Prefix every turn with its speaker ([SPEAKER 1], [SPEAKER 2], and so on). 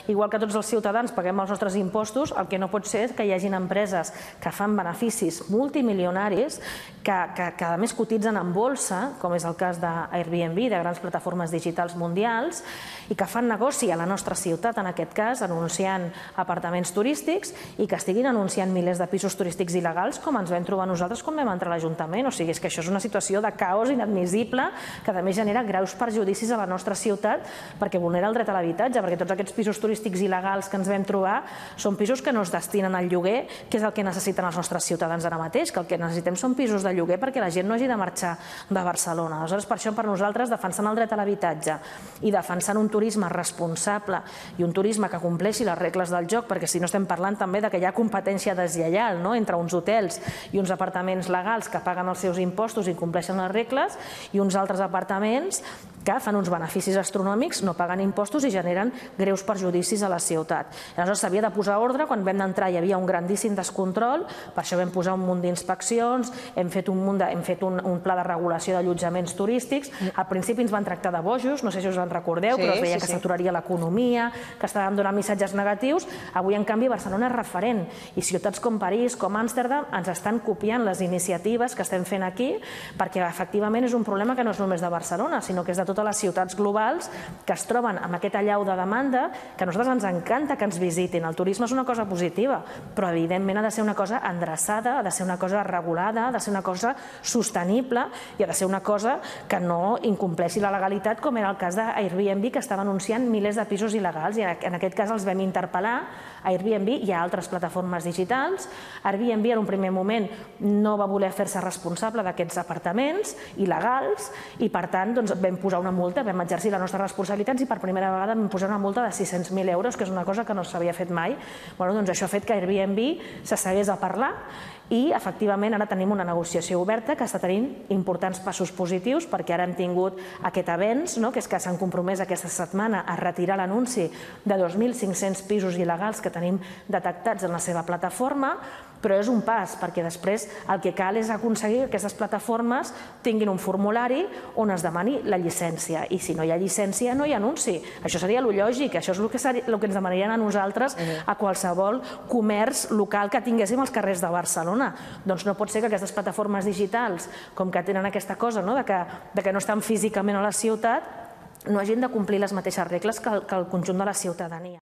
[SPEAKER 1] igual que tots els ciutadans paguem els nostres impostos, el que no pot ser és que hi hagin empreses que fan beneficis multimilionaris, que a més cotitzen en borsa, com és el cas d'Airbnb, de grans plataformes digitals mundials, i que fan negoci a la nostra ciutat, en aquest cas, anunciant apartaments turístics i que estiguin anunciant milers de pisos turístics il·legals, com ens vam trobar nosaltres quan vam entrar a l'Ajuntament. O sigui, és que això és una situació de caos inadmissible que a més genera greus perjudicis a la nostra ciutat perquè vulnera el dret a l'habitatge, perquè tots aquests pisos turístics il·legals que ens vam trobar són pisos que no es destinen al lloguer, que és el que necessiten els nostres ciutadans ara mateix, que el que necessitem són pisos de lloguer perquè la gent no hagi de marxar de Barcelona. Aleshores, per això, per nosaltres, defensant el dret a l'habitatge i defensant un turisme responsable i un turisme que compleixi les regles del joc, perquè si no estem parlant també que hi ha competència deslleial entre uns hotels i uns apartaments legals que paguen els seus impostos i compleixen les regles i uns altres apartaments que fan uns beneficis astronòmics, no paguen impostos i generen greus perjudicis a la ciutat. Aleshores s'havia de posar ordre, quan vam entrar hi havia un grandíssim descontrol, per això vam posar un munt d'inspeccions, hem fet un pla de regulació d'allotjaments turístics. Al principi ens van tractar de bojos, no sé si us en recordeu, però es veia que s'aturaria l'economia, que estàvem donant missatges negatius. Avui, en canvi, Barcelona és referent i ciutats com París, com Amsterdam, ens estan copiant les iniciatives que estem fent aquí, perquè efectivament és un problema que no és només de Barcelona, sinó que és de totes les ciutats globals que es troben amb aquest allau de demanda, que a nosaltres ens encanta que ens visitin. El turisme és una cosa positiva, però evidentment ha de ser una cosa endreçada, ha de ser una cosa regulada, ha de ser una cosa sostenible i ha de ser una cosa que no incompleixi la legalitat, com era el cas d'Airbnb, que estava anunciant milers de pisos il·legals, i en aquest cas els vam interpel·lar a Airbnb i a altres plataformes digitals. Airbnb en un primer moment no va voler fer-se responsable d'aquests apartaments il·legals i per tant vam posar una multa, vam exercir les nostres responsabilitats i per primera vegada vam posar una multa de 600.000 euros, que és una cosa que no s'havia fet mai. Això ha fet que Airbnb s'assegués a parlar i efectivament ara tenim una negociació oberta que està tenint importants passos positius, perquè ara hem tingut aquest avenç, que és que s'han compromès aquesta setmana a retirar l'anunci de 2.500 pisos il·legals que tenim detectats en la seva plataforma, però és un pas, perquè després el que cal és aconseguir que aquestes plataformes tinguin un formulari on es demani la llicència, i si no hi ha llicència no hi ha anunci. Això seria el lògic, això és el que ens demanarien a nosaltres a qualsevol comerç local que tinguéssim als carrers de Barcelona. Doncs no pot ser que aquestes plataformes digitals, com que tenen aquesta cosa que no estan físicament a la ciutat, no hagin de complir les mateixes regles que el conjunt de la ciutadania.